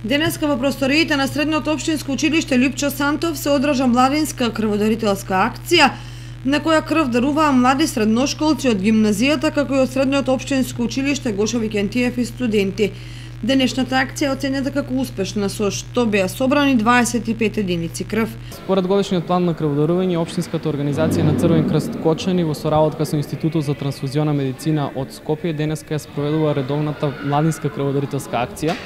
Денеска во просториите на Средното општинско училиште Лјупчо Сантов се одржа младинска крводарителска акција, на која крв даруваа млади средношколци од гимназијата, како и од Средното општинско училиште Гошо Викентиев и студенти. Денешната акција е оценета како успешна, со што беа собрани 25 единици крв. Според годишниот план на крводарување, општинската организација на Црвен крст Кочани во соработка со Институтот за трансфузионна медицина од Скопје денеска ја спроведува редовната младинска крводарителска акција.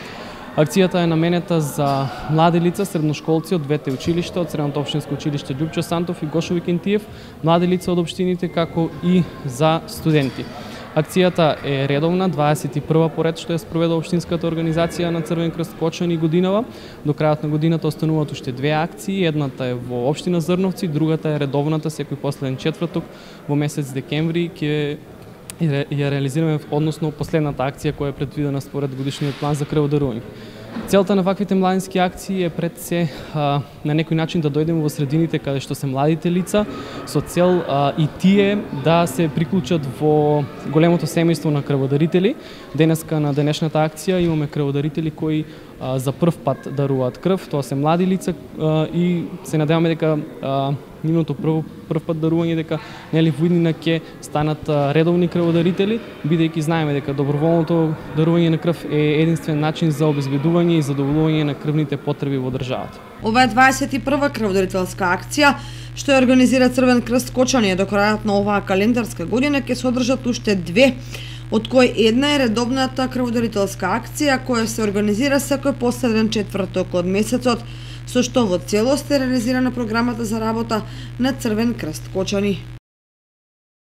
Акцијата е наменета за млади лица, средношколци од двете училишта, од Средното општинско училиште Лјупчо Сантов и Гошо Викентиев, млади лица од општините, како и за студенти. Акцијата е редовна, 21 поред што ја спроведа општинската организација на Црвен крст Кочани годинава. До крајот на годината остануваат уште две акции, едната е во општина Зрновци, другата е редовната секој последен четврток во месец декември ќе ја реализираме, односно последната акција која е предвидена според годишниот план за крводарување. Целта на ваквите младински акции е пред се на некој начин да дојдеме во средините каде што се младите лица, со цел и тие да се приклучат во големото семејство на крводарители. Денеска на денешната акција имаме крводарители кои за прв пат даруваат крв, тоа се млади лица и се надеваме дека нивното прв пат дарување дека нели во иднина ќе станат редовни крводарители, бидејќи знаеме дека доброволното дарување на крв е единствен начин за обезбедување и задоволување на крвните потреби во државата. Ова е 21 крводарителска акција што ја организира Црвен крст Кочани. До крајот на оваа календарска година ќе се одржат уште две, од кои една е редовната крводарителска акција која се организира секој последен четврток од месецот, со што во целост е реализирана програмата за работа на Црвен крст Кочани.